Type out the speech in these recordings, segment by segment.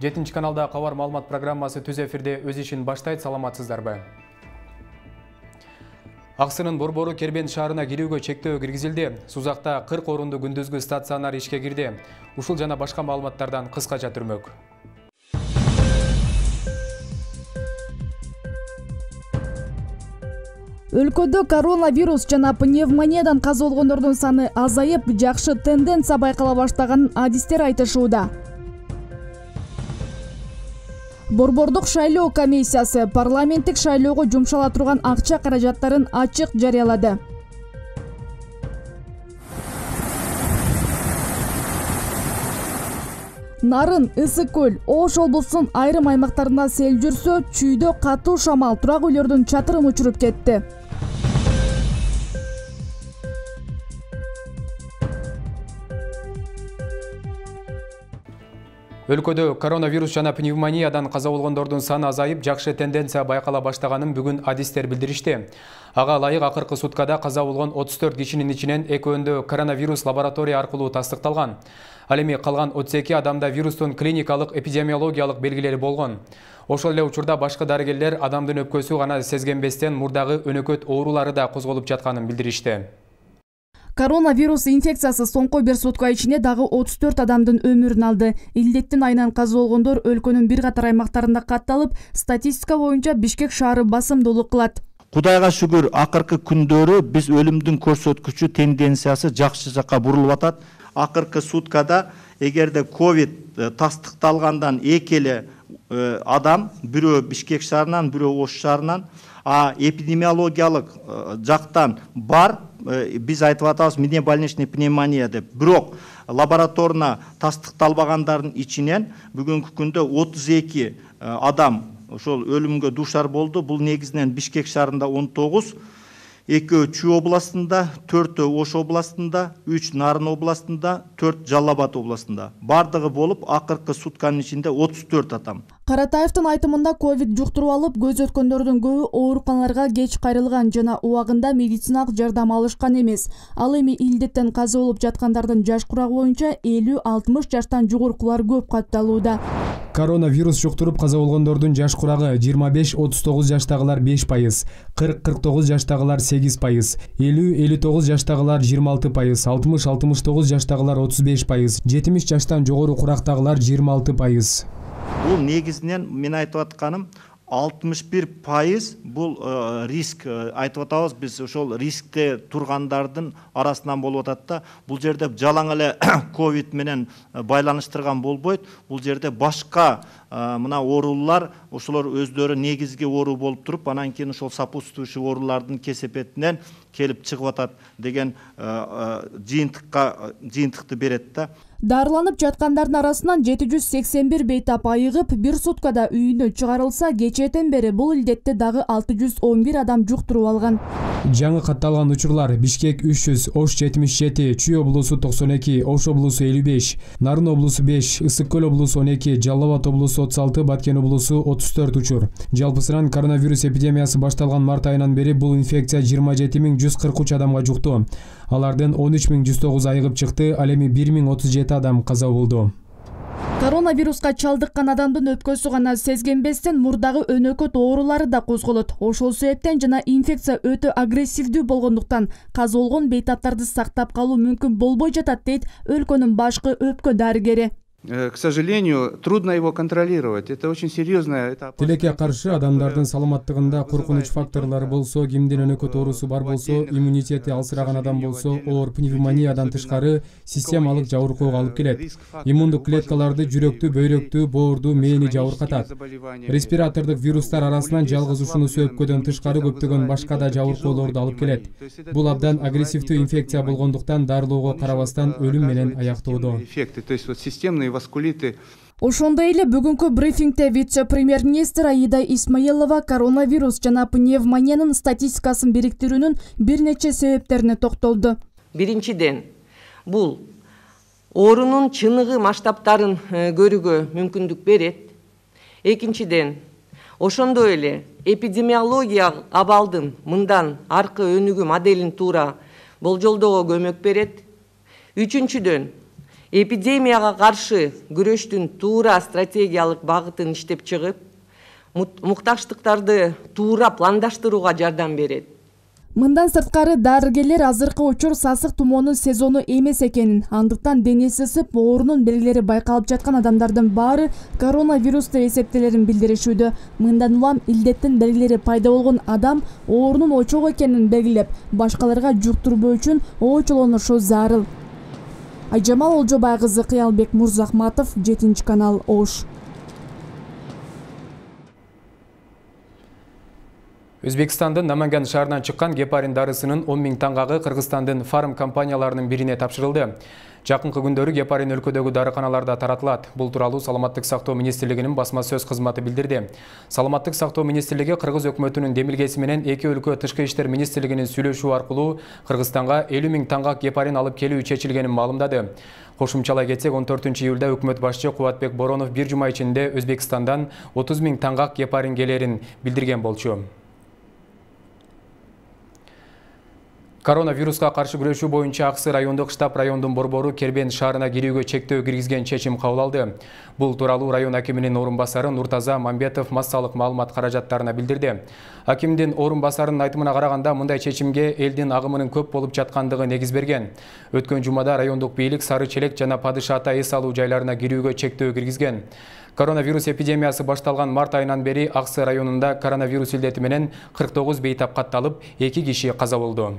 7 каналда кабар маалымат программасы түз эфирде өз ишин баштайт. Саламатсыздарбы? Аксынын Борбору Кербен шаарына кирүүгө чектөө киргизилди. Сузакта 40 орунду күндүзгү стационар ишке кирди. Ушул жана башка маалыматтардан кыскача түрмөк. Өлкөдө коронавирус жана пневмониядан каза болгондордун саны азайып, жакшы тенденция байкала баштаганын адистер айтышууда. Борбордук шайлоо комиссиясы парламенттик шайлоого жумшала турган акча каражаттарын ачык жарыялады. Нарын, Ысык көл, Ош облусунун айрым аймактарында сел жүрсө, чүйдө катуу шамал турак үйлөрдүн чатырын учуруп кетти. Өлкөдө коронавирус жана пневмониядан каза болгондордун саны азайып, жакшы тенденция байкала баштаганын бүгүн адистер билдиришти. Ага ылайык акыркы суткада каза болгон 34 кишинин ичинен экөөндө коронавирус лаборатория аркылуу тастыкталган. Ал эми калган 32 адамда вирустун клиникалык эпидемиологиялык белгилери болгон. Ошол эле учурда башкы дарыгерлер адамдын өпкөсү гана сезгенбестен мурдагы өнөкөт оорулары да козголуп жатканын билдиришти. Коронавирус инфекциясы соңку бир сутка ичинде дагы 34 адамдын өмүрүн алды. Илдеттин айынан каза болгондор өлкөнүн бир катар аймактарында катталып, статистика боюнча Бишкек шаары басымдуулук кылат. Кудайга шүгүр, акыркы күндөрү биз өлүмдүн көрсөткүчү тенденциясы жакшы жакка бурулуп атат. Акыркы суткада эгерде ковид тастыкталгандан эки эле адам, бирөө Бишкек шаарынан, бирөө Ош шаарынан, эпидемиологиялык жактан бар, биз айтып атабыз минебольничный пневмония деп. Бирок лабораторна тастыкталбагандардын ичинен бүгүнкү күндө 32 адам ошол өлүмгө дуушар болду. Бул негизинен Бишкек шаарында 19, 2 Чүй областында, 4 Ош областында, 3 Нарын областында, 4 Жалал Абад областында. Бардыгы болуп акыркы сутканын ичинде 34 адам. Каратаевдин айтымында ковид жуктуруп алып, көз өткөндөрдүн көбү ооруканаларга кеч кайрылган жана убагында медициналык жардам алышкан эмес. Ал эми илдеттен каза болуп жаткандардын жаш курагы боюнча 50-60 жаштан жогорукулар көп катталууда. Коронавирус жуктуруп каза болгондордун жаш курагы 25-39 жаштагылар 5%, 40-49 жаштагылар 8%, 50-59 жаштагылар 26%, 60-69 жаштагылар 35%, 70 жаштан жогору курактагылар 26%. Бул негизинен мен айтып атканым 61% бул риск айтып атабыз, биз ошол рискте тургандардын арасынан болуп атат да. Бул жерде жалаң эле ковид менен байланыштырган болбойт. Бул жерде башка мына оорулар, ошолор өздөрү негизги оору болуп туруп, анан кийин ошол сопутствующий оорулардын кесепетинен келип чыгып атат деген жыйынтыкты берет да. Дарыланып жаткандардын арасынан 781 бейтап айыгып, бир суткада үйүнө чыгарылса, кечээден бери бул илдетти дагы 611 адам жуктуруп алган. Жаңы катталган учурлар: Бишкек 300, Ош 77, Чүй облусу 92, Ош облусу 55, Нарын облусу 5, Ысык көл облусу 12, Жалал Абад облусу 36, Баткен облусу 34 учур. Жалпысынан коронавирус эпидемиясы башталган март айынан бери бул инфекция 27143 адамга жукту. Алардын 13109 айыгып чыкты, ал эми 1037 адам каза болду. Коронавируска чалдыккан адамдын өпкөсү гана сезгенбестен мурдагы өнөкөт оорулары да козголот. Ошол себептен жана инфекция өтө агрессивдүү болгондуктан каза болгон бейтаптарды сактап калуу мүмкүн болбой жатат, дейт өлкөнүн башкы өпкө дарыгери. К сожалению, трудно его контролировать. Это очень серьезная этап. Тилекке каршы адамдардын саламаттыгында коркунуч факторлору болсо, кимдин өнөкөт оорусу бар болсо, иммунитети алсыраган адам болсо, оор пневмониядан тышкары системалык жабыркоого алып келет. Иммундук клеткаларды жүрөктү, бөйрөктү, боорду, мээни жабыркатат. Респиратордук вирустар арасынан жалгыз ушунусу өпкөдөн тышкары көптөгөн башка да жабыркоолорду алып келет. Бул абдан агрессивдүү инфекция болгондуктан дарылоого карабастан өлүм менен аяктоодо. То есть вот системные васкулиты. Ошондой эле бүгүнкү брифингде вице-премьер-министр Аида Исмаилова коронавирус жана пневмониянын статистикасын бириктирүүнүн бир нече себептерине токтолду. Биринчиден, бул оорунун чыныгы масштабтарын көрүүгө мүмкүндүк берет. Экинчиден, ошондой эле эпидемиологиялык абалдын мындан аркы өнүгүү моделин туура болжолдоого көмөк берет. Үчүнчүдөн, эпидемияга каршы күрөштүн туура стратегиялык багытын иштеп чыгып, мукташтыктарды туура пландаштырууга жардам берет. Мындан сырткары дарыгерлер азыркы учур сасык тумоонун сезону эмес экенин, андыктан денеси ысып, оорунун белгилери байкалып жаткан адамдардын баары коронавирус деп эсептелерин билдиришүүдө. Мындан улам илдеттин белгилери пайда болгон адам оорунун очогу экенин белгилеп, башкаларга жуктурбоо үчүн оочолонушу зарыл. Айжамал Олжобай кызы, Кыялбек Мурзахматов, 7 канал, Ош. Өзбекстандын Наманган шаарынан чыккан гепарин дарысынын 10 000 таңгагы Кыргызстандын фарм компанияларынын бирине тапшырылды. Жакынкы күндөрү гепарин өлкөдөгү дарыканаларда таратылат. Бул тууралуу Саламаттык сактоо министрлигинин басма сөз кызматы билдирди. Саламаттык сактоо министрлиги Кыргыз өкмөтүнүн демилгеси менен эки өлкө тышкы иштер министрлигинин сүйлөшүү аркылуу Кыргызстанга 50 000 таңгак гепарин алып келүү чечилгенин маалымдады. Кошумчалай кетсек, 14 июлда өкмөт башчы Кубатбек Боронов бир жума ичинде Өзбекстандан 30 000 таңгак гепарин келерин билдирген болчу. Коронавируска каршы күрөшүү боюнча Аксы райондук штаб райондун борбору Кербен шаарына кирүүгө чектөө киргизген чечим кабыл алды. Бул тууралуу район акиминин орун басары Нуртаза Мамбетов массалык маалымат каражаттарына билдирди. Акимдин орун басарынын айтымына караганда, мындай чечимге элдин агымынын көп болуп жаткандыгы негиз берген. Өткөн жумада райондук бийлик Сары Челек жана Падыш Ата эс алуу жайларына кирүүгө чектөө киргизген. Коронавирус эпидемиясы башталган март айынан бери Аксы районунда коронавирус илдети менен 49 бейтап катталып, 2 киши каза болду.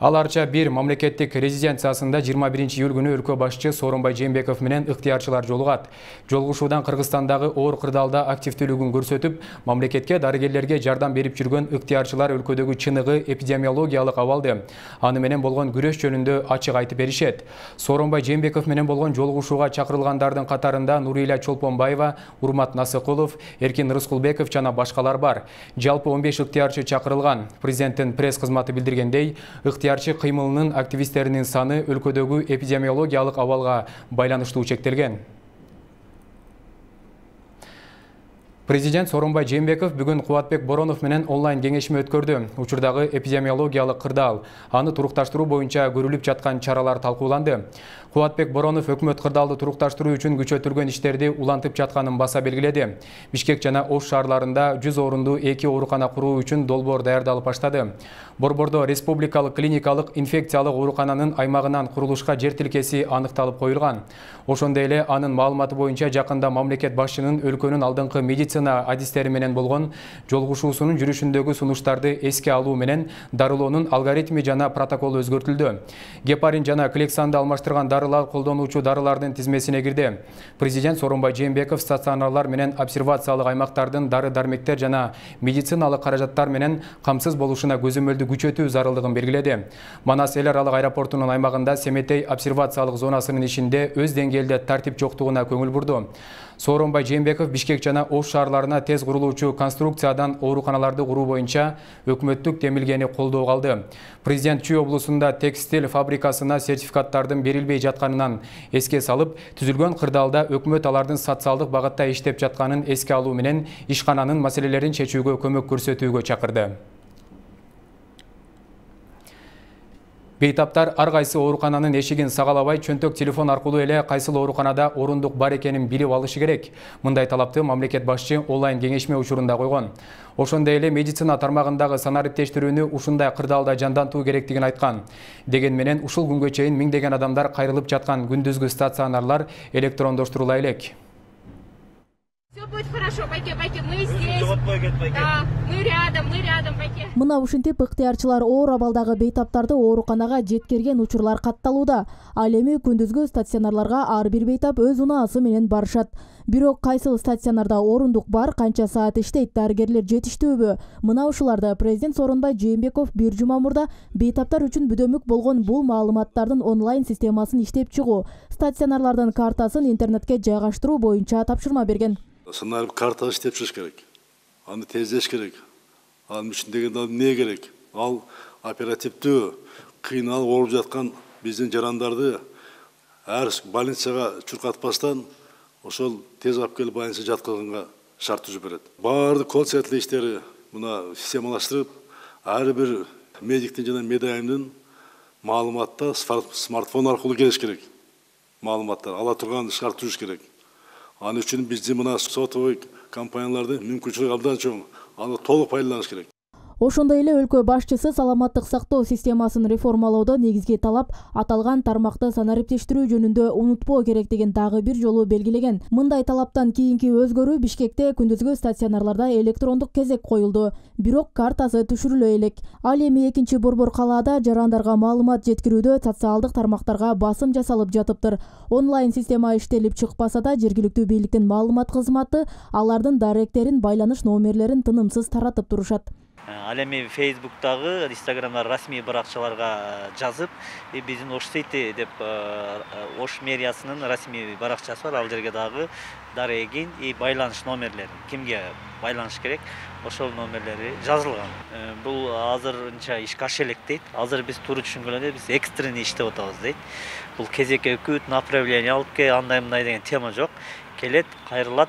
Ал арча бир мамлекеттик резиденциясында 21 июль күнү өлкө башчы Сооронбай Жээнбеков менен ыктыярчылар жолугат. Жолугушуудан Кыргызстандагы оор кырдаалда активдүүлүгүн көрсөтүп, мамлекетке дарыгерлерге жардам берип жүргөн ыктыярчылар өлкөдөгү чыныгы эпидемиологиялык абалды, аны менен болгон күрөш жөнүндө ачык айтып беришет. Сооронбай Жээнбеков менен болгон жолугушууга чакырылгандардын катарында Нурила Чолпонбаева, Урмат Насыкулов, Эркин Рыскулбеков жана башкалар бар. Жалпы 15 ыктыярчы чакырылган. Президенттин пресс кызматы билдиргендей, ыктыярчы кыймылынын активисттеринин саны өлкөдөгү эпидемиологиялык абалга байланыштуу чектелген. Президент Сооронбай Жээнбеков бүгүн Кубатбек Боронов менен онлайн кеңешме өткөрдү. Учурдагы эпидемиологиялык кырдаал, аны турукташтыруу боюнча көрүлүп жаткан чаралар талкууланды. Кубатбек Боронов өкмөт кырдаалды турукташтыруу үчүн күчөтүлгөн иштерди улантып жатканын баса белгиледи. Бишкек жана Ош шаарларында 100 орунду 2 оорукана куруу үчүн долбоор даярдалып баштады. Борбордо республикалык клиникалык инфекциялык оорукананын аймагынан курулушка жер тилкеси аныкталып коюлган. Ошондой эле анын маалыматы боюнча жакында мамлекет башчынын өлкөнүн алдыңкы медицина адистери менен болгон жолугушуусунун жүрүшүндөгү сунуштарды эске алуу менен дарылоонун алгоритми жана протоколу өзгөртүлдү. Гепарин жана клександы алмаштырган дарылар колдонуучу дарылардын тизмесине кирди. Президент Сооронбай Жээнбеков стационарлар менен обсервациялык аймактардын дары-дармектер жана медициналык каражаттар менен камсыз болушуна көзөмөлдү күчөтүү зарылдыгын белгиледи. Манас эл аралык аэропортунун аймагында Семетей обсервациялык зонасынын ичинде өз деңгээлде тартип жоктугуна көңүл бурду. Сооронбай Жээнбеков Бишкек жана Ош шаарларына тез курулуучу конструкциядан ооруканаларды куруу боюнча өкмөттүк демилгени колдоого алды. Президент Чүй облусунда текстиль фабрикасына сертификаттардын берилбей жатканынан эске салып, түзүлгөн кырдаалда өкмөт алардын социалдык багытта иштеп жатканын эске алуу менен ишкананын маселелерин чечүүгө көмөк көрсөтүүгө чакырды. Бейтаптар ар кайсы оорукананын эшигин сагалабай, чөнтөк телефон аркылуу эле кайсыл ооруканада орундук бар экенин билип алышы керек. Мындай талапты мамлекет башчы онлайн кеңешме учурунда койгон. Ошондой эле медицина тармагындагы санариптештирүүнү ушундай кырдаалда жандантуу керектигин айткан. Деген менен ушул күнгө чейин миңдеген адамдар кайрылып жаткан күндүзгү стационарлар электрондоштурула элек. Все будет хорошо, пойдем, мы здесь. Да, мы рядом, пойдем. Мына ушинтип ыктыярчылар оор абалдагы бейтаптарды ооруканага жеткирген учурлар катталууда. Ал эми күндүзгү стационарларга ар бир бейтап өз унаасы менен барышат. Бирок кайсыл стационарда орундук бар, канча саат иштейт, дарыгерлер жетиштүүбү? Мына ушуларды президент Сооронбай Жээнбеков бир жума мурда бейтаптар үчүн бүдөмүк болгон бул маалыматтардын онлайн системасын иштеп чыгуу, стационарлардын картасын интернетке жайгаштыруу боюнча тапшырма берген. Санарип карта иштеп чыгыш керек. Аны тездеш керек. Анын үчүн деген эмне керек? Ал оперативдүү кыйналып ооруп жаткан биздин жарандарды ар больницага чуркатпастан ошол тез алып келип больницага жаткызганга шарт түзүп берет. Баардык колл-центр иштери мына системалаштырып, ар бир медиктин жана медайымдын маалыматты смартфон аркылуу келиш керек. Маалыматтар ала турган шарттырыш керек. Аны үчүн биздин мына сотовый компаниялардын мүмкүнчүлүгү абдан чоң. Аны толук пайдаланыш керек. Ошондой эле өлкө башчысы саламаттык сактоо системасын реформалоодо негизги талап аталган тармакты санариптештирүү жөнүндө унутпоо керектигин дагы бир жолу белгилеген. Мындай талаптан кийинки өзгөрүү Бишкекте күндүзгү стационарларда электрондук кезек коюлду. Бирок картасы түшүрүлө элек. Ал эми 2-борбор калаада жарандарга маалымат жеткирүүдө социалдык тармактарга басым жасалып жатыптыр. Онлайн система иштелип чыкпаса да жергиликтүү бийликтин маалымат кызматы алардын даректерин, байланыш номерлерин тынымсыз таратып турушат. Ал эми Facebook'тагы, Instagram'да расмий баракчаларга жазып, биздин Ош сейти деп Ош мэриясынын расмий баракчасы бар. Ал жерге дагы дарегин и байланыш номерлери, кимге байланыш керек, ошол номерлери жазылган. Бул азырынча ишке аша элек дейт. Азыр биз туура түшүнгөндөй биз экстренный иштеп атабыз дейт. Бул кезекке күт, направление алып ке, андай деген тема жок. Келет, кайрылат,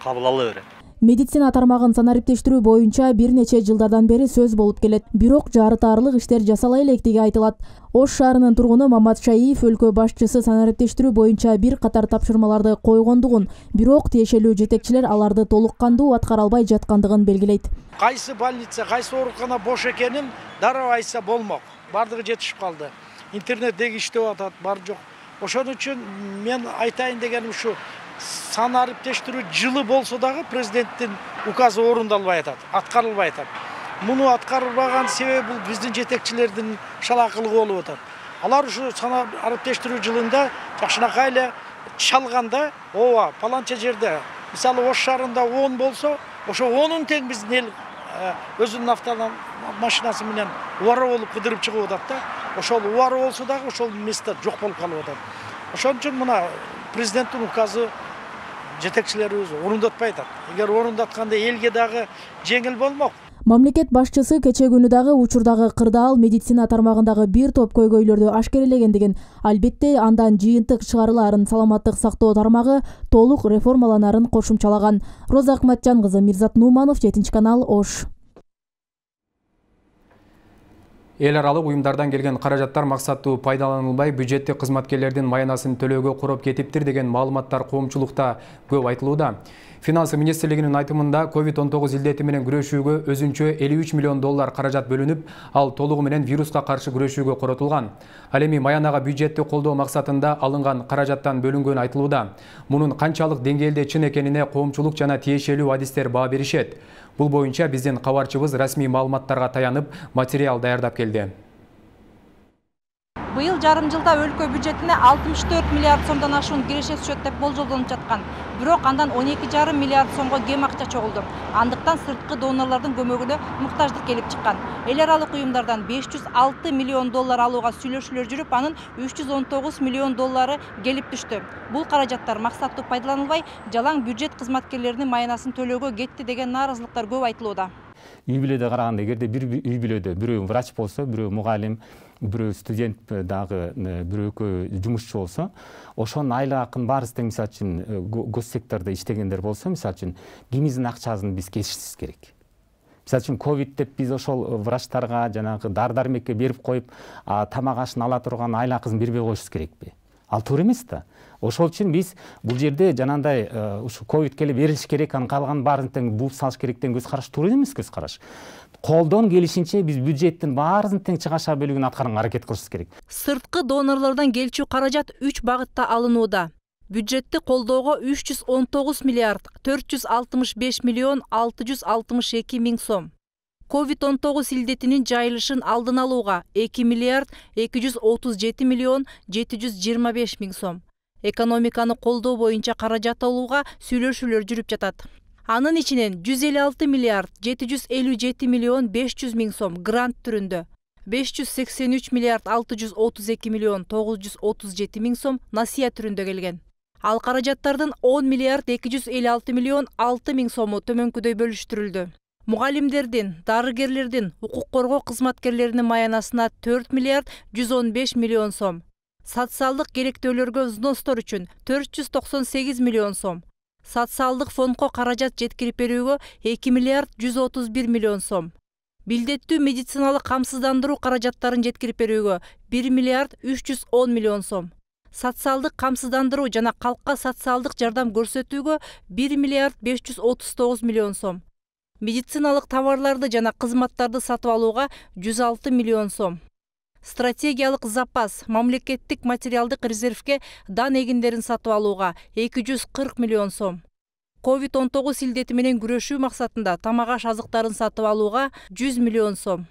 кабыл ала берет. Медицина тармагын санариптештирүү боюнча бир нече жылдардан бери сөз болуп келет. Бирок жарытаарлык иштер жасала электиги айтылат. Ош шаарынын тургуну Мамат Шаиев өлкө башчысы санариптештирүү боюнча бир катар тапшырмаларды койгондугун, бирок тиешелүү жетекчилер аларды толук кандуу аткара албай жаткандыгын белгилейт. Кайсы больница, кайсы оорукана бош экенин дароо айтса болмок. Бардыгы жетишип калды. Интернеттеги иштеп атат, бар жок. Ошон үчүн мен айтайын дегеним ушу. Санариптештирүү жылы болсо дагы президенттин указы орундалбай атат, аткарылбай атат. Муну аткарылбаган себеби бул биздин жетекчилердин шалакылыгы болуп атат. Алар ушу санариптештирүү жылында жакшынакай эле чалганда, ооба, паланча жерде, мисалы Ош шаарында 10 болсо, ошо 10-ун тең биздин эл өзүнүн автомашинасы менен убара болуп кыдырып чыгып атат да. Ошол убара болсо дагы ошол место жок болуп калып атат. Ошон үчүн мына президенттин указы жетекчилерибиз орундатпай атат. Эгер орундатканда элге дагы жеңил болмок. Мамлекет башчысы кече күнү дагы учурдагы кырдаал медицина тармагындагы бир топ көйгөйлөрдү ашкерелегендигин, албетте андан жыйынтык чыгарылаарын саламаттык сактоо тармагы толук реформаланарын кошумчалаган. Роза Акматжан кызы, Мирзат Нуманов, 7-канал, Ош. Эл аралык уюмдардан келген каражаттар максаттуу пайдаланылбай, бюджеттик кызматкерлердин маянасын төлөөгө куруп кетиптир деген маалыматтар коомчулукта көп айтылууда. Финансы министрлигинин айтымында COVID-19 илдети менен күрөшүүгө өзүнчө $53 миллион каражат бөлүнүп, ал толугу менен вируска каршы күрөшүүгө коротулган. Ал эми маянага бюджетти колдоо максатында алынган каражаттан бөлүнгөнү айтылууда. Мунун канчалык деңгээлде чын экенине коомчулук жана тиешелүү адистер баа беришет. Бул боюнча биздин кабарчыбыз расмий маалыматтарга таянып материал даярдап келди. Быйыл жарым жылда өлкө бюджетине 64 миллиард сомдон ашуун киреше түшөт деп болжолдонуп жаткан. Бирок андан 12,5 миллиард сомго кем акча чогулду. Андыктан сырткы донорлордун көмөгүнө муктаждык келип чыккан. Эл аралык уюмдардан $506 миллион алууга сүйлөшүүлөр жүрүп, анын $319 миллион келип түштү. Бул каражаттар максаттуу пайдаланылбай, жалаң бюджет кызматкерлеринин маянасын төлөөгө кетти деген нааразылыктар көп айтылууда. Үй бүлөдө караганда, эгерде бир үй бүлөдө бирөө врач болсо, бирөө мугалим, бирөө студент дагы бирөө жумушчу болсо, ошонун айлык акын баарысы тең, мисалы үчүн гос сектордо иштегендер болсо, мисалы үчүн кимиздин акчасын биз кесишибиз керек. Мисалы үчүн ковид деп биз ошол врачтарга жанагы дар-дармекке берип коюп, тамак ашын ала турган айлык акысын бербей коюшубуз керекпи? Ал туура эмес да. Ошол үчүн биз бул жерде жанагындай ушу ковид келип берилиш керек, анын калган баарын тең бууп салыш керек деген көз караш туура эмес көз караш. Колдон келишинче биз бюджеттин баарысын тең чыгаша бөлүгүн аткарганга аракет кылышыбыз керек. Сырткы донорлордон келчү каражат 3 багытта алынууда. Бюджетти колдоого 319 миллиард 465 миллион 662 миң сом. COVID-19 илдетинин жайылышын алдын алууга 2 миллиард 237 миллион 725 миң сом. Экономиканы колдоо боюнча каражат алууга сүйлөшүүлөр жүрүп жатат. Анын ичинен 156 миллиард 757 миллион 500 миң сом грант түрүндө, 583 миллиард 632 миллион 937 миң сом насыя түрүндө келген. Ал каражаттардын 10 миллиард 256 миллион 6 миң сому төмөнкүдөй бөлүштүрүлдү. Мугалимдердин, дарыгерлердин, укук коргоо кызматкерлеринин маянасына 4 миллиард 115 миллион сом. Социалдык керектөөлөргө взностор үчүн 498 миллион сом. Социалдык фондко каражат жеткирип берүүгө 2 миллиард 131 миллион сом. Билдеттүү медициналык камсыздандыруу каражаттарын жеткирип берүүгө 1 миллиард 310 миллион сом. Социалдык камсыздандыруу жана калкка социалдык жардам көрсөтүүгө 1 миллиард 539 миллион сом. Медициналык товарларды жана кызматтарды сатып алууга 106 миллион сом. Стратегиялык запас мамлекеттик материалдык резервге дан эгиндерин сатып алууга 240 миллион сом. COVID-19 илдети менен күрөшүү максатында тамак-аш азыктарын сатып алууга 100 миллион сом.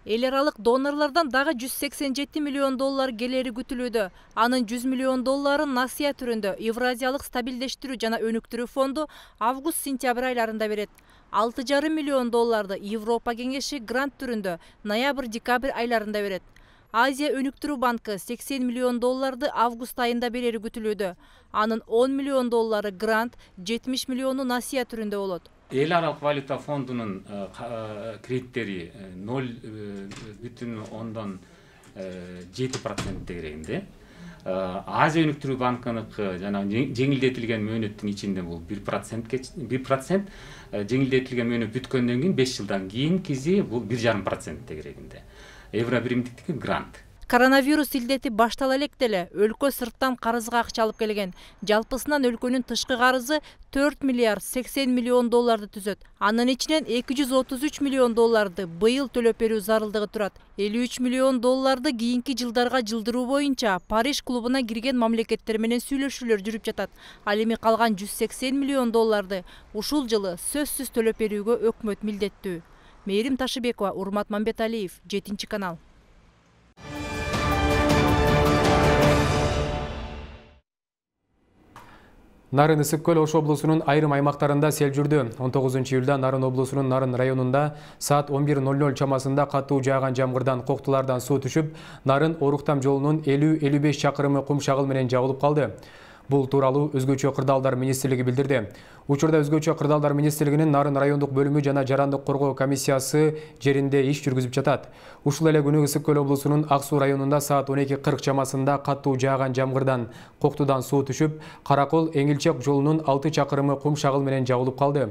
Эл аралык донорлордон дагы 187 миллион доллар келери күтүлүүдө. Анын 100 миллион долларын насыя түрүндө Евразиялык стабилдештирүү жана өнүктүрүү фонду август-сентябрь айларында берет. 6,5 миллион долларды Европа кеңеши грант түрүндө ноябрь-декабрь айларында берет. Азия өнүктүрүү банкы 80 миллион долларды август айында берери күтүлүүдө. Анын 10 миллион доллары грант, 70 миллиону насыя түрүндө болот. Эл аралык валюта фондунун кредиттери 0,7% тегерегинде. Азия өнүктүрүү банкыныкы жана жеңилдетилген мөөнөттүн ичинде бул 1%, жеңилдетилген мөөнөт бүткөндөн кийин 5 жылдан кийинкиси бул 1,5% тегерегинде. Евро биримдиктики грант. Коронавирус илдети баштала элек деле өлкө сырттан карызга акча алып келген. Жалпысынан өлкөнүн тышкы карызы 4 миллиард 80 миллион долларды түзөт. Анын ичинен 233 миллион долларды быйыл төлөп берүү зарылдыгы турат. 53 миллион долларды кийинки жылдарга жылдыруу боюнча Париж клубуна кирген мамлекеттер менен сүйлөшүүлөр жүрүп жатат. Ал эми калган 180 миллион долларды ушул жылы сөзсүз төлөп берүүгө өкмөт милдеттүү. Мээрим Ташыбекова, Урмат Мамбеталиев, 7 канал. Нарын Ысык көл Ош облусунун айрым аймактарында сел жүрдү. 19 июлда Нарын облусунун Нарын районунда саат 11:00 чамасында катуу жааган жамгырдан коктулардан суу түшүп, Нарын Оруктам жолунун 50-55 чакырымы кум шагыл менен жабылып калды. Бул тууралуу Өзгөчө кырдаалдар министрлиги билдирди. Учурда Өзгөчө кырдаалдар министрлигинин Нарын райондук бөлүмү жана жарандык коргоо комиссиясы жеринде иш жүргүзүп жатат. Ушул эле күнү Ысык көл облусунун Ак Суу районунда саат 12:40 чамасында катуу жааган жамгырдан коктудан суу түшүп, Каракол Эңилчек жолунун 6 чакырымы кум шагыл менен жабылып калды.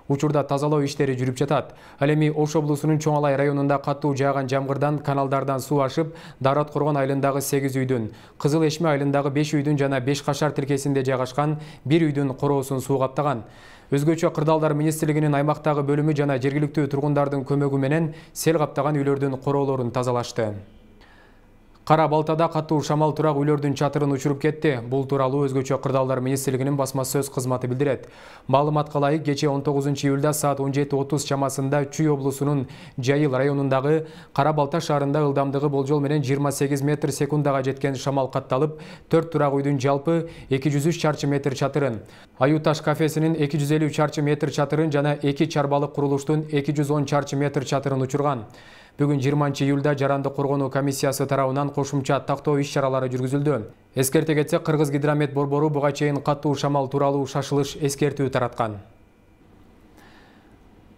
Учурда тазалоо иштери жүрүп жатат. Ал эми Ош облусунун Чоң Алай районунда катуу жааган жамгырдан каналдардан суу ашып, Дарат Коргон айылындагы 8 үйдүн, Кызыл Эшме айылындагы 5 үйдүн жана 5 кашар тилкесинде жайгашкан 1 үйдүн короосун суу каптаган. Өзгөчө кырдаалдар министрлигинин аймактагы бөлүмү жана жергиликтүү тургундардын көмөгү менен сел каптаган үйлөрдүн короолорун тазалашты. Кара Балтада катуу шамал турак үйлөрдүн чатырын учуруп кетти. Бул тууралуу Өзгөчө кырдаалдар министрлигинин басма сөз кызматы билдирет. Маалыматка ылайык, кечээ 19 июлда саат 17:30 чамасында Чүй облусунун Жайыл районундагы Кара Балта шаарында ылдамдыгы болжол менен 28 метр секундага жеткен шамал катталып, 4 турак үйдүн жалпы 203 чарчы метр чатырын, Аюуташ кафесинин 250 чарчы метр чатырын жана 2 чарбалык курулуштун 210 чарчы метр чатырын учурган. Бүгүн 20 июлда жарандык коргонуу комиссиясы тарабынан кошумча тактоо иш-чаралары жүргүзүлдү. Эскерте кетсек, Кыргыз гидромет борбору буга чейин катуу шамал тууралуу шашылыш эскертүү тараткан.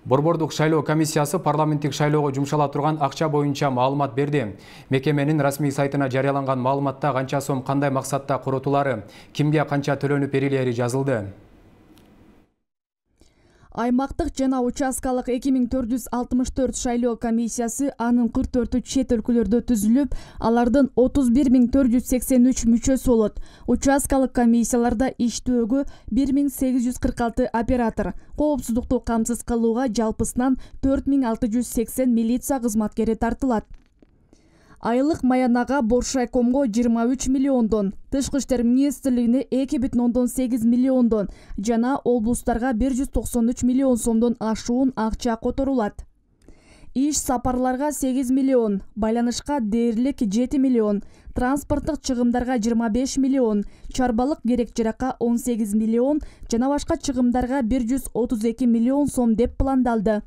Борбордук шайлоо комиссиясы парламенттик шайлоого жумшала турган акча боюнча маалымат берди. Мекеменин расмий сайтына жарыяланган маалыматта канча сом кандай максатта коротулары, кимге канча төлөнүп берилери жазылды. Аймактык жана участкалык 2464 шайлоо комиссиясы анын 44 чет өлкөлөрдө түзүлүп, алардын 31483 мүчөсү болот. Участкалык комиссияларда иштөөгө 1846 оператор, коопсуздукту камсыз кылууга жалпысынан 4680 милиция кызматкери тартылат. Айлык маянага Боршайкомго 23 миллиондон, Тышкы иштер министрлигине 2,8 миллиондон жана облустарга 193 миллион сомдон ашуун акча которулат. Иш сапарларга 8 миллион, байланышка дээрлик 7 миллион, транспорттук чыгымдарга 25 миллион, чарбалык керек-жаракка 18 миллион жана башка чыгымдарга 132 миллион сом деп пландалды.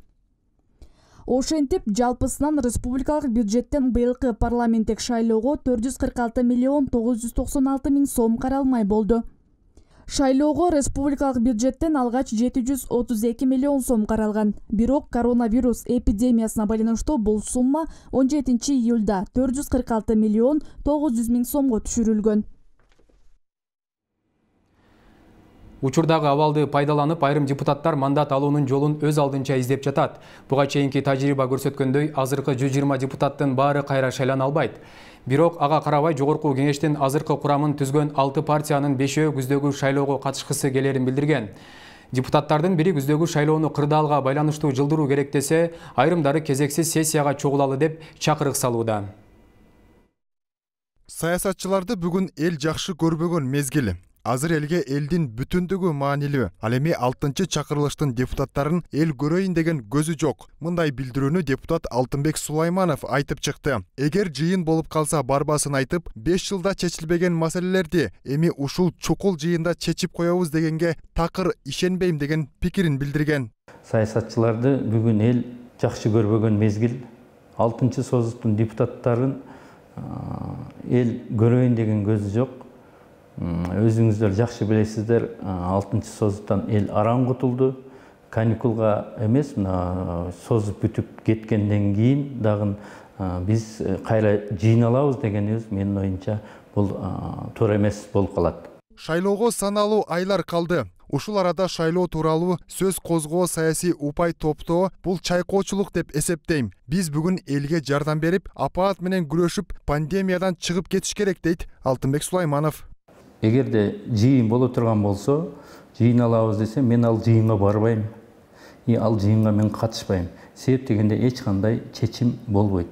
Ошентип, жалпысынан республикалык бюджеттен быйылкы парламенттик шайлоого 446 миллион 996 миң сом каралмай болду. Шайлоого республикалык бюджеттен алгач 732 миллион сом каралган. Бирок коронавирус эпидемиясына байланыштуу бул сумма 17 июлда 446 миллион 900 миң сомго түшүрүлгөн. Учурдагы абалды пайдаланып, айрым депутаттар мандат алуунун жолун өз алдынча издеп жатат. Буга чейинки тажрыйба көрсөткөндөй, азыркы 120 депутаттын баары кайра шайлана албайт. Бирок ага карабай жогорку кеңештин азыркы курамын түзгөн 6 партиянын 5-өө күздөгү шайлоого катышкысы келерин билдирген. Депутаттардын бири күздөгү шайлоону кырдаалга байланыштуу жылдыруу керек десе, айрымдары кезексиз сессияга чогулалы деп чакырык салууда. Саясатчыларды бүгүн эл жакшы көрбөгөн мезгил. Азыр элге элдин бүтүндүгү маанилүү. Ал эми 6-чы чакырылыштын депутаттарын эл көрөйүн деген көзү жок. Мындай билдирүүнү депутат Алтынбек Сулайманов айтып чыкты. Эгер жыйын болуп калса барбасын айтып, 5 жылда чечилбеген маселелерди эми ушул чукул жыйында чечип коебуз дегенге такыр ишенбейм деген пикирин билдирген. Саясатчыларды бүгүн эл жакшы көрбөгөн мезгил. 6-чы созуктун депутаттарын эл көрөйүн деген көзү жок. Өзүңүздөр жакшы билесиздер, 6-чы созуктан эл араң кутулду. Каникулга эмес, созуп бүтүп кеткенден кийин дагы биз кайра жыйналабыз дегенибиз менин оюмча бул туура эмес болуп калат. Шайлоого саналуу айлар калды. Ушул арада шайлоо тууралуу сөз козгоо саясий упай топтоо бул чайкоочулук деп эсептейм. Биз бүгүн элге жардам берип, апаат менен күрөшүп, пандемиядан чыгып кетиш керек дейт Алтынбек Сулайманов. Эгерде жыйын боло турган болсо, жыйын алабыз десе, мен ал жыйынга барбайм. Ал жыйынга мен катышпайм. Себеп дегенде эч кандай чечим болбойт.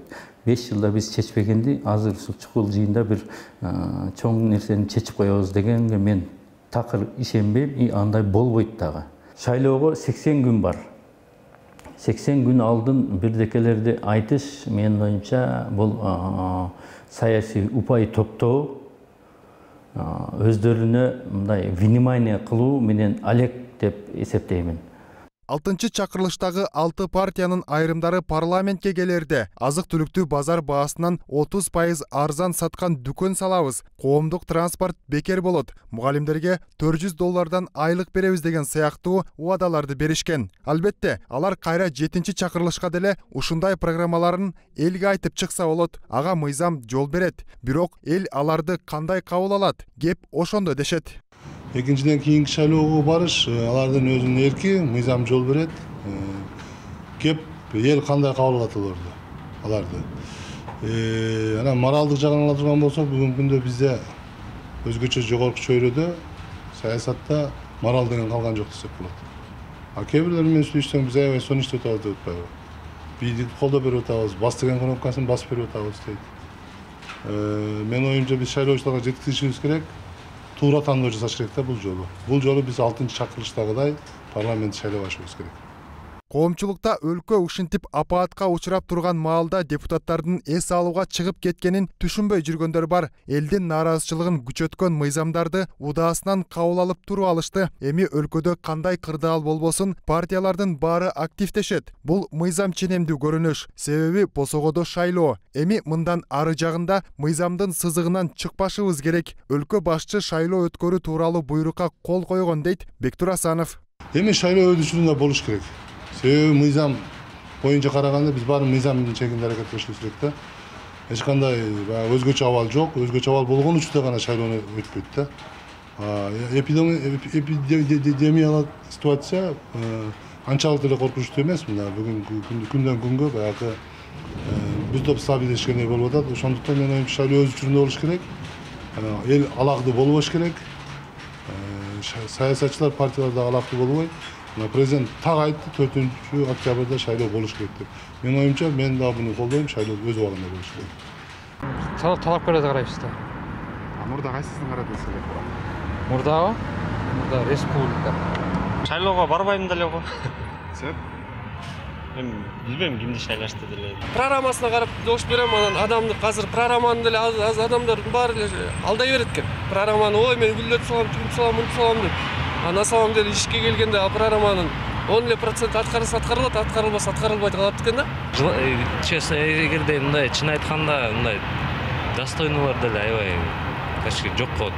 5 жылда биз чечпегенди, азыр чукул жыйында бир чоң нерсени чечип коебуз дегенге мен такыр ишенбейм, андай болбойт дагы. Шайлоого 80 күн бар. 80 күн алдын бирдекелерди айтыш менин оюмча бул саясий упай топтоо өздөрүнө мындай внимание кылуу менен алек деп эсептеймин. 6-чы чакырылыштагы 6 партиянын айрымдары парламентке келерде азык-түлүктү базар баасынан 30% арзан саткан дүкөн салабыз, коомдук транспорт бекер болот, мугалимдерге $400 айлык беребиз деген сыяктуу убадаларды беришкен. Албетте, алар кайра 7-чи чакырылышка деле ушундай программаларын элге айтып чыкса болот, ага мыйзам жол берет. Бирок эл аларды кандай кабыл алат? Кеп ошондо дешет. Экинчиден кийинки шайлоого барыш алардын өзүнүн эрки, мыйзам жол берет. Кеп эл кандай кабыл алат аларды. Анан моралдык жагын ала турган болсок, бүгүнкү күндө бизде өзгөчө жогорку чөйрөдө саясатта морал деген калган жок десек болот. Кээ бирлер менен сүйлөшсөң биз аябай сонун иштеп атабыз деп атпайбы? Бийди колдоп берип атабыз, бас деген кнопкасын басып берип атабыз дейт. Менин оюмча биз шайлоочуларга жеткизишибиз керек. Туура тандоо жасаш керек да бул жолу. Бул жолу биз 6-чы чакырылыштагыдай парламент шайлап алышыбыз керек. Коомчулукта өлкө ушинтип апаатка учурап турган маалда депутаттардын эс алууга чыгып кеткенин түшүнбөй жүргөндөр бар. Элдин нааразычылыгын күчөткөн мыйзамдарды удаасынан кабыл алып туруп алышты. Эми өлкөдө кандай кырдаал болбосун, партиялардын баары активдешет. Бул мыйзам ченемдүү көрүнүш. Себеби босогодо шайлоо. Эми мындан ары жагында мыйзамдын сызыгынан чыкпашыбыз керек. Өлкө башчы шайлоо өткөрүү тууралуу буйрукка кол койгон дейт Бектур Асанов. Эми шайлоо өтүшүндө болуш керек. Себеби мыйзам боюнча караганда биз баары мыйзамдын чегинде аракет кылышыбыз керек да. Эч кандай өзгөчө абал жок, өзгөчө абал болгон учурда гана шайлоо өтпөйт да. Эпидемиялык ситуация анчалык деле коркунучтуу эмес. Мына бүгүнкү күндөн күнгө баягы бир топ стабилдешкендей болуп атат. Ошондуктан мен оюмча шайлоо өз учурунда болуш керек. Эл алакты болбош керек. Саясатчылар, партиялар да алакты болбой. Президент так айтты, 4 октябрда шайлоо болуш керек деп. Менин оюмча мен да буну колдойм, шайлоо өз убагында болуш керек. Талапкерлерди карайбыз да. Мурда кайсысын карадыңыз эле? Мурдабы? Мурда республика. Шайлоого барбайм деле го. Себеп? Мен билбейм кимди шайлашты деле. Программасына карап добуш берем, анан адамды азыр программаны деле адамдардын баары эле алдай берет экен. Программаны ой мен гүлдөрдү салам, тигинди салам, мынтип салам деп. На самом деле ишке келгенде программанын 10% аткарылат, аткарылбаса аткарылбай калат экен да. Честно, эгерде мындай чын айтканда мындай достойнулар деле аябай качки жок болот.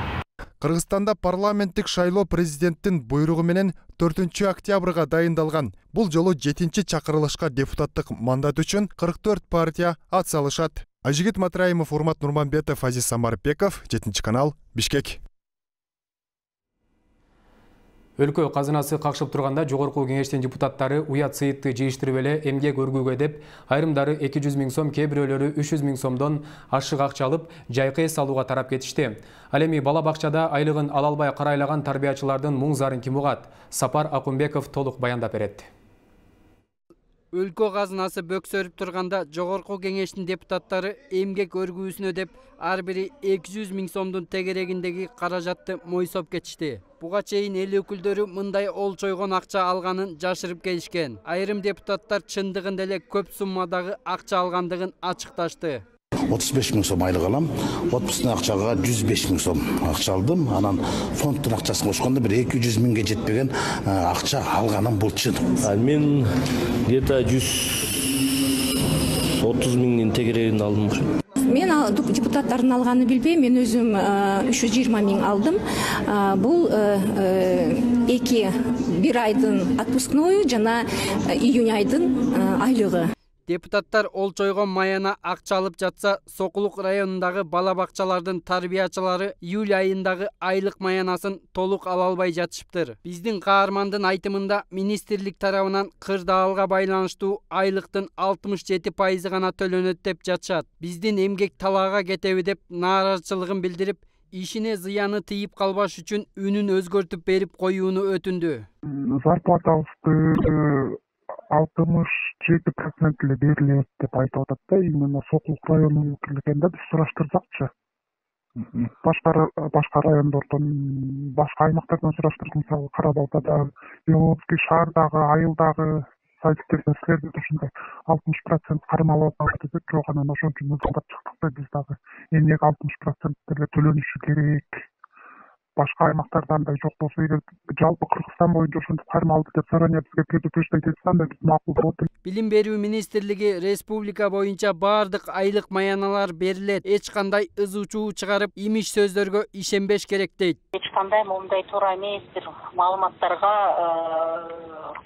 Кыргызстанда парламенттик шайлоо президенттин буйругу менен 4 октябрга дайындалган. Бул жолу 7-чи чакырылышка депутаттык мандат үчүн 44 партия ат салышат. Ажигит Матраимов, Урмат Нурманбетов, Азиз Самарбеков, 7 канал, Бишкек. Өлкө казынасы какшып турганда жогорку кеңештин депутаттары уят сыйытты жыйыштырып эле эмгек өргүүгө деп айрымдары 200 000 сом, кээ бирөөлөрү 300 000 сомдон ашык акча алып жайкы эс алууга тарап кетишти. Ал эми бала бакчада айлыгын ала албай карайлаган тарбиячылардын мұң зарын ким угат? Сапар Акунбеков толук баяндап берет. Өлкө казынасы бөксөрүп турганда жогорку кеңештин депутаттары эмгек өргүүсүнө деп ар бири 200 000 сомдун тегерегиндеги каражатты мойсоп кетишти. Буга чейин эл өкүлдөрү мындай олчойгон акча алганын жашырып келишкен. Айрым депутаттар чындыгында эле көп суммадагы акча алгандыгын ачыкташты. 35 000 сом айлык алам. Отпускный акчага 105 000 сом акча алдым. Анан фондтун акчасын кошкондо бир 200 000ге жетпеген акча алганым бул чын. Мен где-то 130 000 тегерегинде алдым. Мен депутаттардын алганын билбейм, мен өзүм 320 000 алдым. Бул бир айдын отпускною жана июнь айдын айлыгы. Депутаттар олчойгон маяна акча алып жатса, Сокулук районундагы бала бакчалардын тарбиячылары июль айындагы айлык маянасын толук ала албай жатышыптыр. Биздин каармандын айтымында министрлик тарабынан кырдаалга байланыштуу айлыктын 67% гана төлөнөт деп жатышат. Биздин эмгек талаага кетеби деп нааразычылыгын билдирип, ишине зыяны тийип калбаш үчүн үнүн өзгөртүп берип коюуну өтүндү. Зарплатабызды 67% эле берилет деп айтып атат да, именно Сокулук районунун өкүлдүгүндө биз сураштырсакчы. Башка райондордон, башка аймактардан сураштырдык, мисалы Кара-Балтадан, Беловодский шаардагы, Айылдагы сайттерден силерде ушундай 60% кармалып атат десек, жок, анан ошон үчүн мызгылдап чыктык да, биз дагы эмнеге 60% эле төлөнүшү керек. Башка аймактардан да жок болсо, эгер жалпы Кыргызстан боюнча ошентип кармалды деп заранее бизге предупреждать этсе, анда биз макул болот. Билим берүү министрлиги республика боюнча баардык айлык маяналар берилет. Эч кандай ызы чуу чыгарып, имиш сөздөргө ишенбеш керек дейт. Эч кандай момундай туура эмес бир маалыматтарга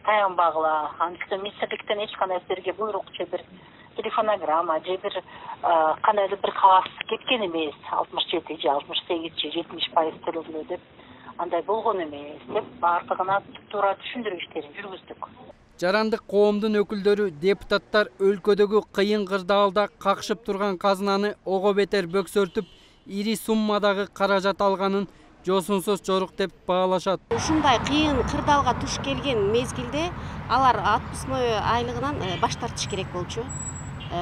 таянбагыла. Анын үстүнө министрликтен эч кандай силерге буйрук же бир телефонограмма же бир кандайдыр бир кагаз кеткен эмес. 67 же 68 же 70% төлөгүлө деп андай болгон эмес деп баардыгына туура түшүндүрүү иштерин жүргүздүк. Жарандык коомдун өкүлдөрү депутаттар өлкөдөгү кыйын кырдаалда какшып турган казынаны ого бетер бөксөртүп, ири суммадагы каражат алганын жосунсуз жорук деп баалашат. Ушундай кыйын кырдаалга туш келген мезгилде алар отпускной айлыгынан баш тартыш керек болчу.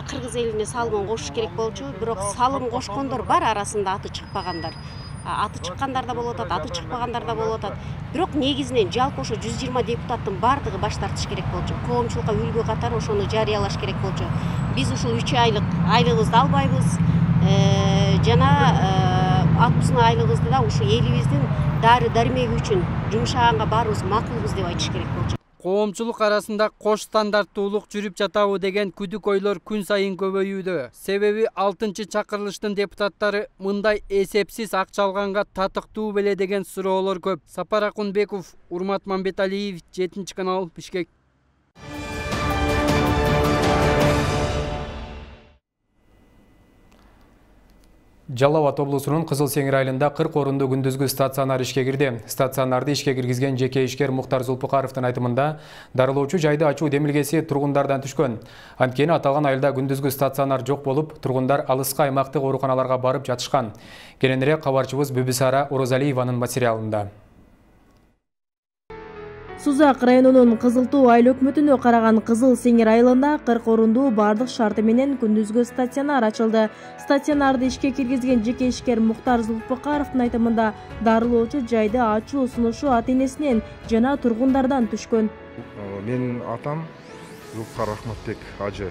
Кыргыз элине салымын кошуш керек болчу, бирок салым кошкондор бар арасында аты чыкпагандар. Аты чыккандар да болуп атат, аты чыкпагандар да болуп атат. Бирок негизинен жалпы ошо 120 депутаттын бардыгы баш тартыш керек болчу. Коомчулукка үлгү катары ошону жарыялаш керек болчу. Биз ушул 3 айлык айлыгыбызды албайбыз. Жана отпускный айлыгыбызды да ушу элибиздин дары дармеги үчүн жумшаганга баарыбыз макулбуз деп айтыш керек болчу. Коомчулук арасында кош стандарттуулук жүрүп жатабы деген күдүк ойлор күн сайын көбөйүүдө. Себеби 6-чакырылыштын депутаттары мындай эсепсиз акча алганга татыктуу беле деген суроолор көп. Сапар Акунбеков, Урмат Мамбеталиев, 7-канал, Бишкек. Жалал Абад облусунун Кызыл Сеңир айылында 40 орунду күндүзгү стационар ишке кирди. Стационарды ишке киргизген жеке ишкер Муктар Зулпукаровдун айтымында, дарылоочу жайды ачуу демилгеси тургундардан түшкөн. Анткени аталган айылда күндүзгү стационар жок болуп, тургундар алыска аймактык ооруканаларга барып жатышкан. Кененирээк кабарчыбыз Бүбүсара Орозалиеванын материалында. Сузак районунун Кызыл Туу айыл өкмөтүнө караган Кызыл Сеңир айылында 40 орунду бардык шарты менен күндүзгү стационар ачылды. Стационарды ишке киргизген жеке ишкер Муктар Зулпукаровдун айтымында, дарылоочу жайды ачуу сунушу ата-энесинен жана тургундардан түшкөн. Менин атам Зулпукар Рахматбек ажы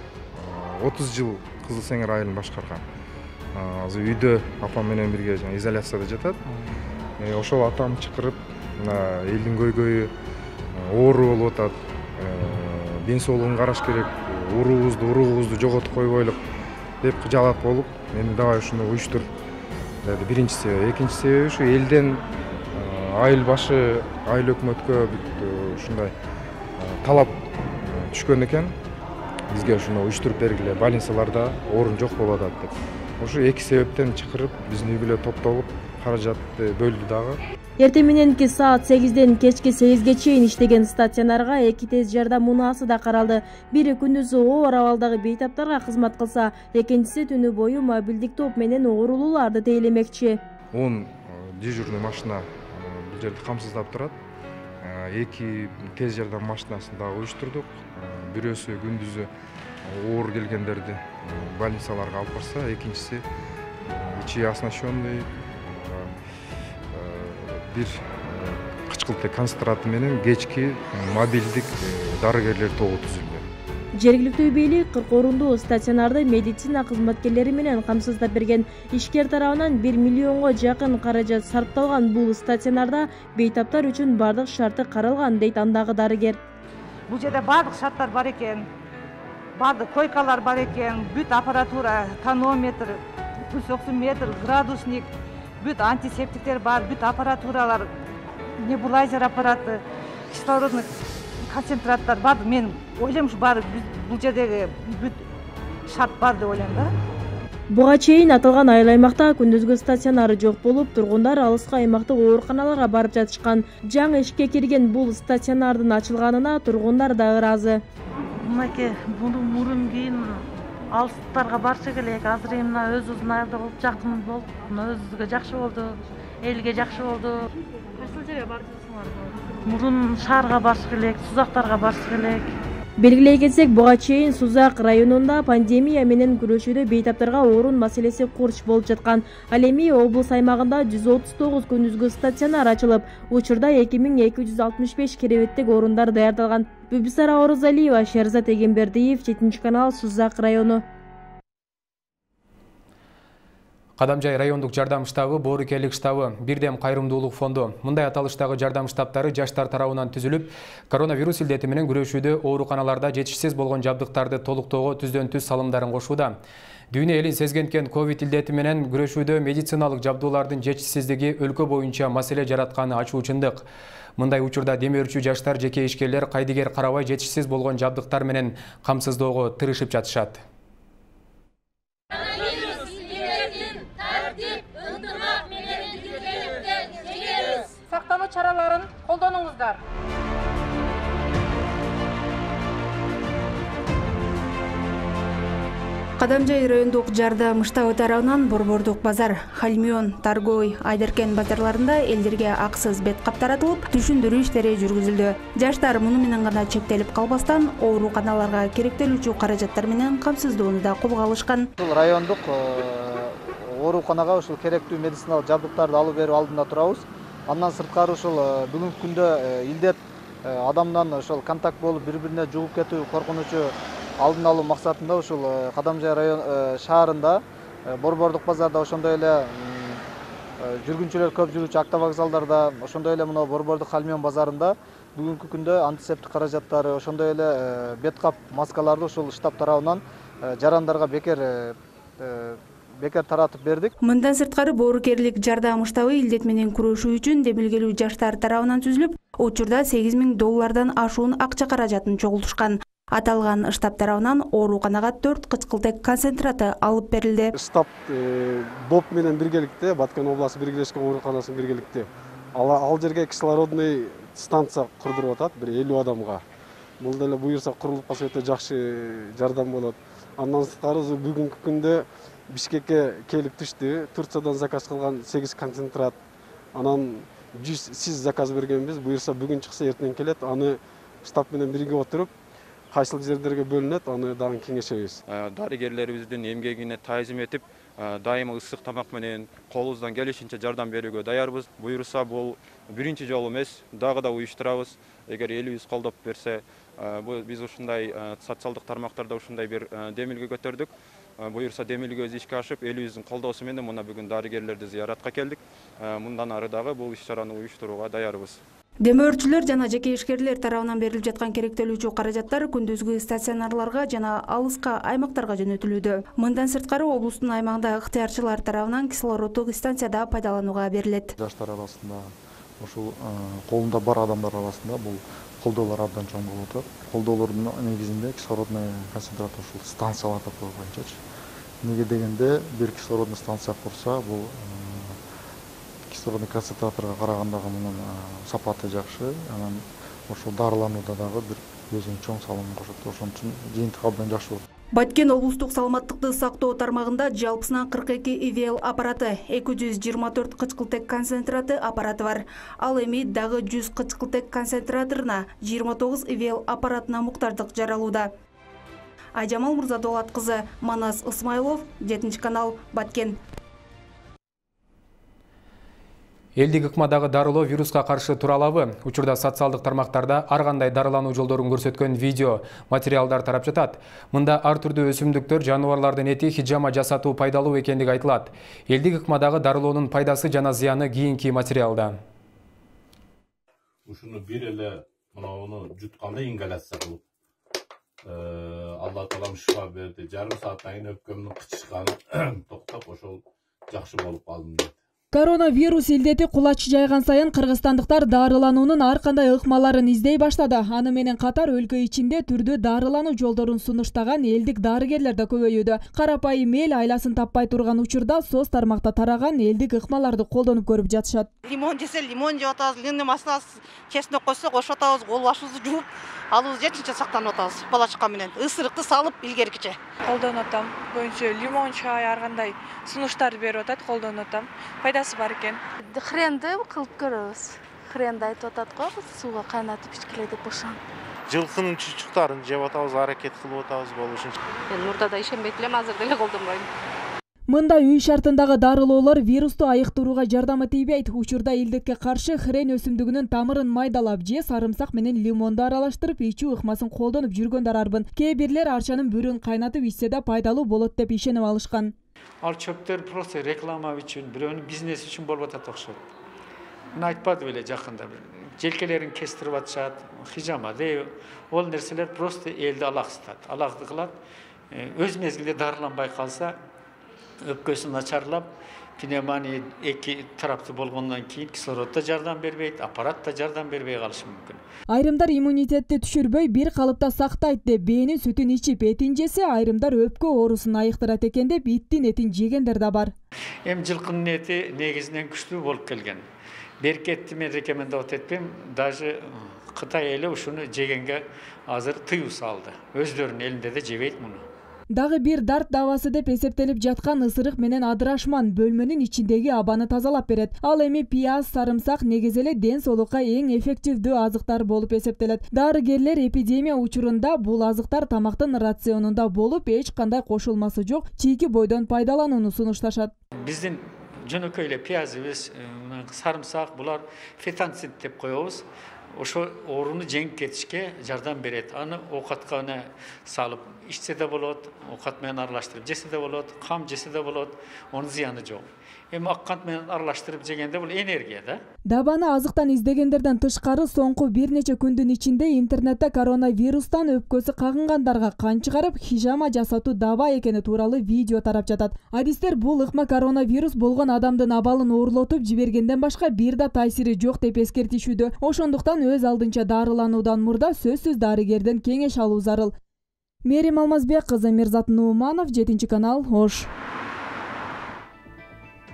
30 жыл Кызыл Сеңир айылын башкарган. Азыр үйдө апам менен бирге изоляцияда жатат. Ошол атам чакырып, элдин көйгөйү оору болуп атат, ден соолугун караш керек, уруубузду жоготуп койбойлук деп жалат болуп, мени давай ушуну уюштур деди. Биринчи себеби, экинчи себеби ушу элден айыл башы, айыл өкмөткө ушундай талап түшкөн экен. Бизге ушуну уюштуруп бергиле, больницаларда орун жок болуп атат деп. Ошо эки себептен чакырып, биздин үй бүлө топтолуп, каражатты бөлдү дагы. Эртең мененки саат 8ден кечки 8ге чейин иштеген стационарга 2 тез жардам унаасы да каралды. Бири күндүзү оор абалдагы бейтаптарга кызмат кылса, экинчиси түнү бою мобилдик топ менен оорулууларды тейлемекчи. 10 дежурный машина бул жерде камсыздап турат. 2 тез жардам машинасын дагы уюштурдук. Бирөөсү күндүзү оор келгендерди больницаларга алып барса, экинчиси ичи оснащенный бир кычкылтек концентраты менен кечки мобилдик дарыгерлер тобу түзүлгөн. Жергиликтүү бийлик 40 орундуу стационарды медицина кызматкерлери менен камсыздап берген. Ишкер тарабынан 1 миллионго жакын каражат сарпталган бул стационарда бейтаптар үчүн бардык шарты каралган, дейт андагы дарыгер. Бул жерде бардык шарттар бар экен. Бардык койкалар бар экен, бүт аппаратура, тонометр, пульс оксиметр, градусник, бүт антисептиктер бар, бүт аппаратуралар, небулайзер аппараты, кислородный концентраттар бар. Мен ойлойм ушу баары бул жердеги бүт шарт бар деп ойлойм да. Буга чейин аталган айыл аймакта күндүзгү стационары жок болуп, тургундар алыскы аймактык ооруканаларга барып жатышкан. Жаңы ишке кирген бул стационардын ачылганына тургундар да ыраазы. Мынакей мурун кийин алыстарга барчу келек. Азыр эми мына өзүбүздүн айылда болуп жакын болуп, мына өзүбүзгө жакшы болду, элге жакшы болду. Кайсыл жерге бардыңыздар? Мурун шаарга барыш келек, Сузактарга барыш келек. Белгилей кетсек, буга чейин Сузак районунда пандемия менен күрөшүүдө бейтаптарга орун маселеси курч болуп жаткан. Ал эми облус аймагында 139 күндүзгү стационар ачылып, учурда 2265 керебеттик орундар даярдалган. Бүбүсара Орозалиева, Шерзат Эгембердиев, 7 канал, Сузак району. Кадамжай райондук жардам штабы, Боорукелик штабы, Бирдем кайрымдуулук фонду. Мындай аталыштагы жардам штабтары жаштар тарабынан түзүлүп, коронавирус илдети менен күрөшүүдө ооруканаларда жетишсиз болгон жабдыктарды толуктоого түздөн-түз салымдарын кошууда. Дүйнө элин сезгенткен ковид илдети менен күрөшүүдө медициналык жабдуулардын жетишсиздиги өлкө боюнча маселе жаратканы ачуу чындык. Мындай учурда демөөрчү жаштар, жеке ишкерлер кайдыгер карабай жетишсиз болгон жабдыктар менен камсыздоого тырышып жатышат. Сактануу чараларын колдонуңуздар. Кадамжай райондук жардам штабы тарабынан Борбордук базар, Хальмион, Таргой, Айдаркен базарларында элдерге акысыз бет кап таратылып, түшүндүрүү иштери жүргүзүлдү. Жаштар муну менен гана чектелип калбастан, ооруканаларга керектелүүчү каражаттар менен камсыздоону да колго алышкан. Райондук ооруканага ушул керектүү медициналык жабдыктарды алып берүү алдында турабыз. Андан сырткары ушул бүгүнкү күндө илдет адамдан ошол контакт болуп бири-бирине жугуп кетүү коркунучу алдын алуу максатында ушул Кадамжай район шаарында, Борбордук базарда, ошондой эле жүргүнчүлөр көп жүрүүчү автовокзалдарда, ошондой эле мына Борбордук Хальмион базарында бүгүнкү күндө антисептик каражаттары, ошондой эле бет кап маскаларды ушул штаб тарабынан жарандарга бекер таратып бердик. Мындан сырткары Боорукерлик жардам штабы илдет менен күрөшүү үчүн демилгелүү жаштар тарабынан түзүлүп, учурда $8000 ашуун акча каражатын чогултушкан. Аталган штаб тарабынан ооруканага 4 кычкылтек концентраты алып берилди. Штаб БОП менен биргеликте, Баткен областы биргелешкен ооруканасынын биргеликте ал жерге кислородный станция курдуруп атат, бир 50 адамга. Бул деле буюрса курулуп калса өтө жакшы жардам болот. Андан сырткары бүгүнкү күндө Бишкекке келип түштү. Турциядан заказ кылган 8 концентрат. Анан 100 заказ бергенбиз. Буюрса бүгүн чыкса эртең келет. Аны штаб менен бирге отуруп, кайсыл жерлерге бөлүнөт, аны дагы кеңешебиз. Дарыгерлерибиздин эмгегине таазим этип, дайыма ысык тамак менен колубуздан келишинче жардам берүүгө даярбыз. Буюрса бул биринчи жолу эмес, дагы да уюштурабыз. Эгер элибиз колдоп берсе, биз ушундай социалдык тармактарда ушундай бир демилге көтөрдүк. Буюрса демилгебиз ишке ашып, элибиздин колдоосу менен мына бүгүн дарыгерлерди зыяратка келдик. Мындан ары дагы бул иш-чараны уюштурууга даярбыз. Демөөрчүлөр жана жеке ишкерлер тарабынан берилип жаткан керектелүүчү каражаттар күндүзгү стационарларга жана алыска аймактарга жөнөтүлүүдө. Мындан сырткары облустун аймагында ыктыярчылар тарабынан кислороддук станцияда пайдаланууга берилет. Жаштар арасында, ушул колунда бар адамдар арасында бул колдоолор абдан чоң болуп атат. Колдоолордун негизинде кислородный концентрат ушул станцияларда койгончочу. Неге дегенде бир кислородный станция курса, бул кислородный концентраторго караганда мунун сапаты жакшы. Анан ошол дарыланууда дагы бир өзүнүн чоң салымын кошот. Ошон үчүн жыйынтык абдан жакшы болот. Баткен облустук саламаттыкты сактоо тармагында жалпысынан 42 ИВЛ аппараты, 224 кычкылтек концентраты аппараты бар. Ал эми дагы 100 кычкылтек концентраторуна, 29 ИВЛ аппаратына муктаждык жаралууда. Айжамал Мырзадолат кызы, Манас Ысмайлов, 7-канал, Баткен. Элдик ыкмадагы дарылоо вируска каршы тура алабы? Учурда социалдык тармактарда ар кандай дарылануу жолдорун көрсөткөн видео материалдар тарап жатат. Мында ар түрдүү өсүмдүктөр, жаныбарлардын эти хижама жасатуу пайдалуу экендиги айтылат. Элдик ыкмадагы дарылоонун пайдасы жана зыяны кийинки материалда. Ушуну бир эле мынауну жутканда ингаляция кылып, Алла таалам шифа берди. Жарым сааттан кийин өпкөмдүн кычышканы токтоп, ошол жакшы болуп калдым дейт. Коронавирус илдети кулач жайган сайын кыргызстандыктар дарылануунун ар кандай ыкмаларын издей баштады. Аны менен катар өлкө ичинде түрдүү дарылануу жолдорун сунуштаган элдик дарыгерлер да көбөйүүдө. Карапайым эл айласын таппай турган учурда соц тармакта тараган элдик ыкмаларды колдонуп көрүп жатышат. Лимон жесе лимон жеп атабыз, лимон масласын чесноп койсок ошо атабыз, кол башыбызды жууп алыбыз жечинче сактанып атабыз. Балачка менен ысырыкты салып илгеркиче колдонуп атам. Көбүнчө лимон чай ар кандай сунуштар берип атат, колдонуп атам. Пайдасы бар экен. Хренди кылып көрөбүз. Хренди айтып атат го, сууга кайнатып ичкиле деп ошон. Жылкынын чучуктарын жеп атабыз, аракет кылып атабыз болушунча. Мен мурда да ишенбейт элем, азыр деле колдонбойм. Мында үй шартындагы дарылоолор вирусту айыктырууга жардамы тийбейт. Учурда илдетке каршы хрен өсүмдүгүнүн тамырын майдалап же сарымсак менен лимонду аралаштырып ичүү ыкмасын колдонуп жүргөндөр арбын. Кээ бирлер арчанын бүрүн кайнатып ичсе да пайдалуу болот деп ишенип алышкан. Ал чөптөр просто реклама үчүн, бирөөнүн бизнес үчүн болуп атат окшойт. Мен айтпады беле жакында желкелерин кестирип атышат, хижама дей. Ол нерселер просто элди алаксытат. Алакты кылат. Өз мезгилде дарыланбай калса, өпкөсү начарлап, пневмония эки тараптуу болгондон кийин кислород да жардам бербейт, аппарат да жардам бербей калышы мүмкүн. Айрымдар иммунитетти түшүрбөй бир калыпта сактайт деп бээнин сүтүн ичип этин жесе, айрымдар өпкө оорусун айыктырат экен деп иттин этин жегендер да бар. Эми жылкынын эти негизинен күчтүү болуп келген. Беркетти мен рекомендовать этпейм, даже Кытай эли ушуну жегенге азыр тыюу салды. Өздөрүнүн элинде да жебейт муну. Дагы бир дарт давасы деп эсептелип жаткан ысырык менен адырашман бөлмөнүн ичиндеги абаны тазалап берет. Ал эми пияз, сарымсак негизи эле ден соолукка эң эффективдүү азыктар болуп эсептелет. Дарыгерлер эпидемия учурунда бул азыктар тамактын рационунда болуп, эч кандай кошулмасы жок чийки бойдон пайдаланууну сунушташат. Биздин жөнөкөй эле пиязыбыз, сарымсак, булар фитонцид деп коебуз. Ошо ооруну жеңип кетишке жардам берет. Аны оокатка салып ичсе да болот, оокат менен аралаштырып жесе да болот, кам жесе да болот, онун зыяны жок. Эми ак кант менен аралаштырып жегенде бул энергия да. Дабаны азыктан издегендерден тышкары соңку бир нече күндүн ичинде интернетте коронавирустан өпкөсү кагынгандарга кан чыгарып, хижама жасатуу даба экени тууралуу видео тарап жатат. Адистер бул ыкма коронавирус болгон адамдын абалын оорлотуп жибергенден башка бир да таасири жок деп эскертишүүдө. Ошондуктан өз алдынча дарылануудан мурда сөзсүз дарыгерден кеңеш алуу зарыл. Мерим Алмазбек кызы, Мирзат Нууманов, 7-канал, Ош.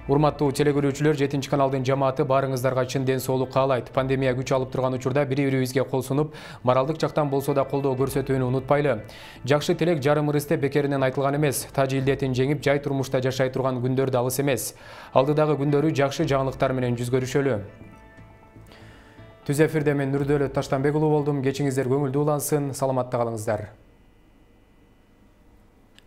Урматтуу телекөрүүчүлөр, 7-каналдын жамааты баарыңыздарга чын ден соолук каалайт. Пандемия күч алып турган учурда бири-бирибизге кол сунуп, моралдык жактан болсо да колдоо көрсөтүүнү унутпайлы. Жакшы тилек жарым ырысте бекеринен айтылган эмес. Тажы илдетин жеңип, жай турмушта жашай турган күндөр да алыс эмес. Алдыдагы күндөрү жакшы жаңылыктар менен жүз көрүшөлү. Түз эфирде мен Нурдөөлөт Таштанбек уулу болдум. Кечиңиздер көңүлдүү улансын, саламатта калыңыздар.